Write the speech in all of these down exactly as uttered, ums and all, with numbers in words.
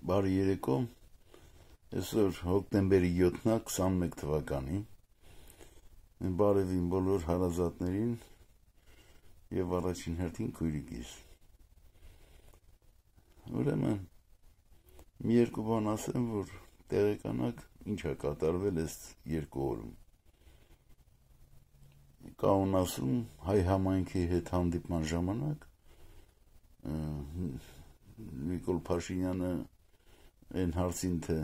Բարի երեկո, այսօր հոկտեմբերի յոթն է քսանմեկ թվականի, բարևին բոլոր հարազատներին և առաջին հերթին քույրիկիս։ Ուրեմն, մի երկու բան ասեմ, որ տեղեկանաք ինչ է կատարվել այս երկու օրում։ Կանոնասում հայ համայնքի հետ հանդիպման ժամանակ Նիկոլ Փաշինյանը այն հարցին, թե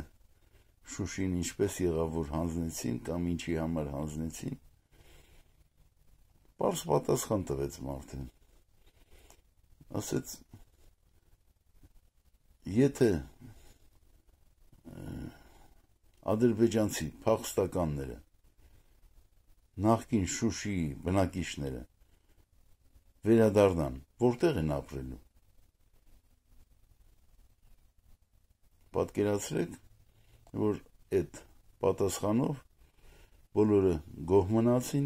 Շուշին ինչպես եղավ, որ հանձնեցին կամ ինչի համար հանձնեցին, պարզ պատասխան տվեց մարդը։ Ասեց, եթե ադրբեջանցի փախստականները, նախկին Շուշիի բնակիչները վերադառնան, որտեղ են ապրելու։ Պատկերացրեք, որ այդ պատասխանով բոլորը գոհ մնացին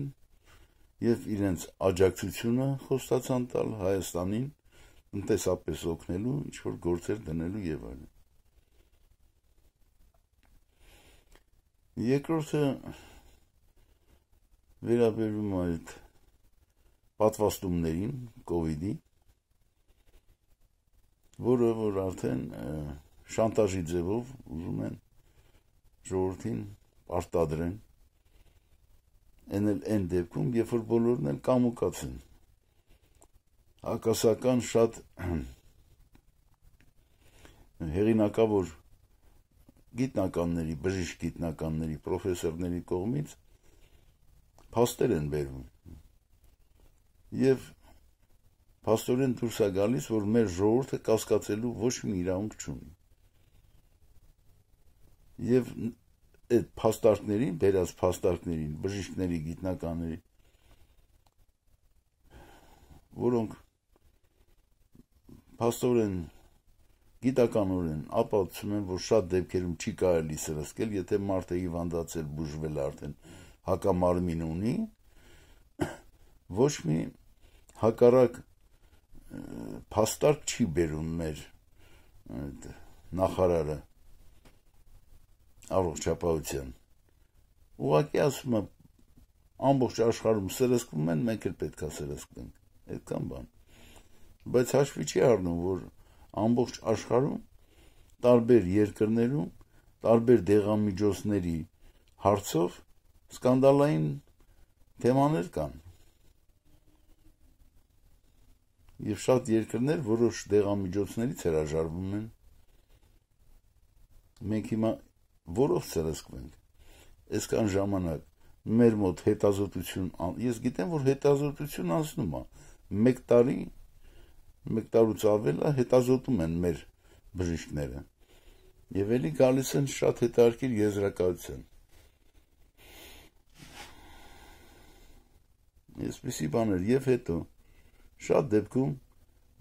և իրենց աջակցությունը խոստացան տալ Հայաստանին տնտեսապես օգնելու, ինչ-որ գործեր դնելու և այլն։ Երկրորդը վերաբերում է այդ պատվաստումներին, կովիդի, որը որ արդեն շանտաժի ձևով ուզում են ժողովրդին պարտադրեն, այն էլ այն դեպքում, երբ որ բոլորն էլ կամուկած են։ Հակասական շատ հեղինակավոր գիտնականների, բժիշկ գիտնականների, պրոֆեսորների կողմից փաստեր են բերվում։ Եվ փաստորեն դուրս է գալիս, որ մեր ժողովուրդը կասկածելու ոչ մի իրավունք չունի։ Եվ այդ փաստարկներին, բերած փաստարկներին, բժիշկների, գիտնականների, որոնք փաստորեն գիտականորեն ապացուցում են, որ շատ դեպքերում չի կարելի սրսկել, եթե մարդը հիվանդացել, բուժվել արդեն հակամարմին ունի, ոչ մի հակառակ փաստարկ չի բերում մեր նախարարը առողջապահության։ Ուղղակի ասում է, ամբողջ աշխարհում սրսկվում են, մենք էլ պետք է սրսկվենք, այդքան բան։ Բայց հաշվի չի առնում, որ ամբողջ աշխարհում, տարբեր երկրներում, տարբեր դեղամիջոցների հարցով սկանդալային թեմաներ կան։ Եվ շատ երկրներ որոշ դեղամիջոցներից հրաժարվում են։ Մենք հիմա որով սրսկվենք, այսքան ժամանակ մեր մոտ հետազոտություն, ես գիտեմ, որ հետազոտություն անցնում է, մեկ տարի, մեկ տարուց ավել է հետազոտում են մեր բժիշկները, և էլի գալիս են շատ հետաքրքիր եզրակացության։ Այսպիսի բաներ, և հետո շատ դեպքում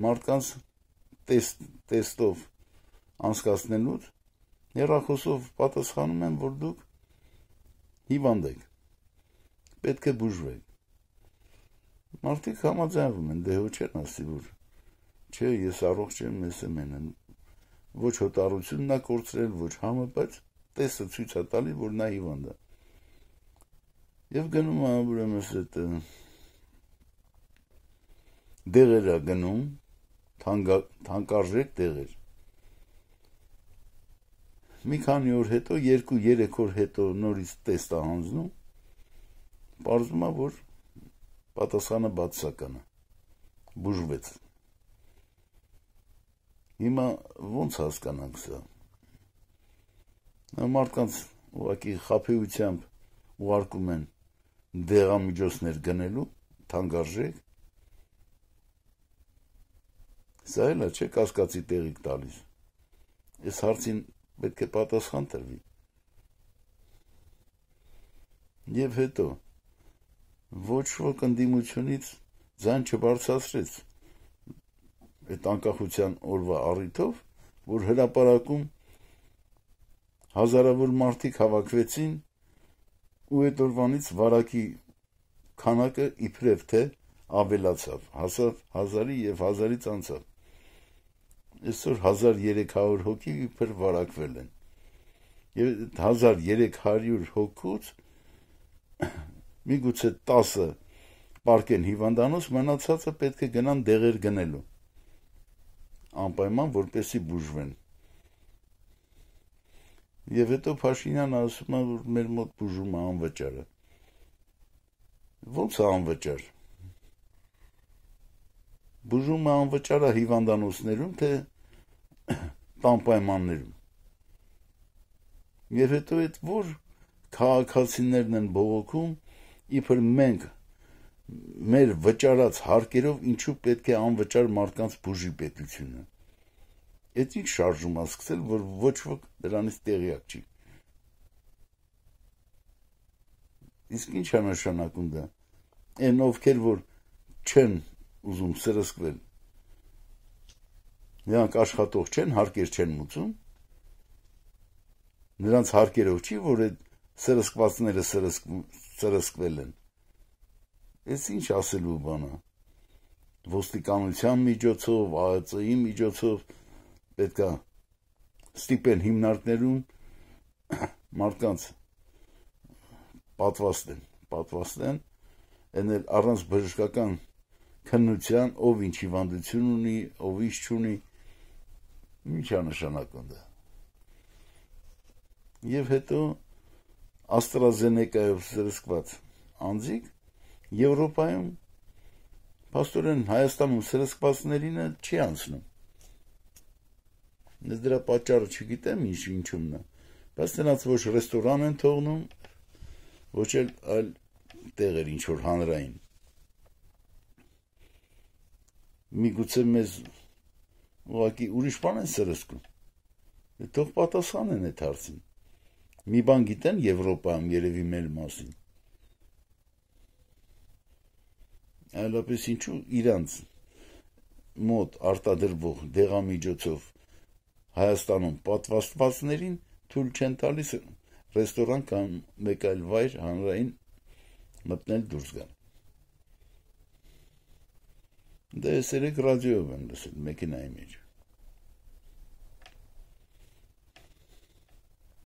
մարդկանց տեստ, տեստով անցկացնելուց հեռախոսով պատասխանում են, որ դուք հիվանդ եք, պետք է բուժվեք։ Մարդիկ համաձայնվում են, դե հո չեն ասի, որ չէ, ես առողջ եմ, ես եմ են, ոչ հոտառությունն է կորցրել, ոչ համը, բայց տեսը ցույց է տալի, որ նա հիվանդ է։ Եվ գնում է, ուրեմն այդ դեղեր է գնում, թանկարժեք դեղեր։ Մի քանի օր հետո, երկու երեք օր հետո նորից տեստ է հանձնում, պարզվում է, որ պատասխանը բացասական է, բուժվեց։ Հիմա ոնց հասկանանք սա։ Մարդկանց ուղղակի խաբեությամբ ուղարկում են դեղամիջոցներ գնելու, թանկարժեք։ Սա էլ է, չէ, կասկածի տեղիք տալիս։ Այս հարցին պետք է պատասխան տրվի։ Եվ հետո ոչ ոք ընդդիմությունից ձայն չբարձրացրեց այդ անկախության օրվա առիթով, որ հրապարակում հազարավոր մարդիկ հավաքվեցին ու այդ օրվանից վարակի քանակը իբրև թե ավելացավ, հասավ հազարի և հազարից անցավ։ այսօր հազար երեք հարյուր հոգի իբր վարակվել են։ Եվ հազար երեք հարյուր հոգուց միգուցե տասը պարկեն հիվանդանոց, մնացածը պետք է գնան դեղեր գնելու, անպայման որպեսի բուժվեն։ Եվ հետո Փաշինյանը ասում է, որ մեր մոտ բուժումը անվճար է։ Ո՞նց է անվճար։ Բուժումը անվճար է հիվանդանոցներում, թե տան պայմաններում։ Եվ հետո այդ որ քաղաքացիներն են բողոքում, իբր մենք մեր վճարած հարկերով ինչու պետք է անվճար մարդկանց բուժի պետությունը։ Այդ ինչ շարժում է սկսել, որ ոչ ոք դրանից տեղյակ չի։ Իսկ ինչ է նշանակում դա։ Այն ովքեր որ չեն ուզում սրսկվել, նրանք աշխատող չեն, հարկեր չեն մուծում, նրանց հարկերով չի, որ այդ սրսկվածները սրսկվել են։ Այս ինչ ասելու բան է։ Ոստիկանության միջոցով, ԱԱԾ-ի միջոցով պետք է ստիպեն հիմնարկներում մարդկանց պատվաստեն, պատվաստեն, այն էլ առանց բժշկական քննության, ով ինչ հիվանդություն ունի, ով ինչ չունի, ինչ է նշանակում դա։ Եվ հետո AstraZeneca-ով սրսկված անձիկ Եվրոպայում, փաստորեն Հայաստանում սրսկվածներինը չի անցնում։ Ես դրա պատճառը չգիտեմ ինչ ինչումն է, բայց նրանց ոչ ռեստորան են թողնում, ոչ էլ այլ տեղեր ինչ որ հանրային։ Միգուցե մեզ ուղղակի ուրիշ բան են սրսկում։ Թող պատասխանեն այդ հարցին։ Մի բան գիտեն Եվրոպայում երևի մեր մասին։ Այլապես ինչու իրանց մոտ արտադրվող դեղամիջոցով Հայաստանում պատվաստվածներին թույլ չեն տալիս ռեստորան կամ մեկ այլ վայր հանրային մտնել դուրս գալ։ Դա ես երեք ռադիոյով եմ լսել մեքենայի մեջ։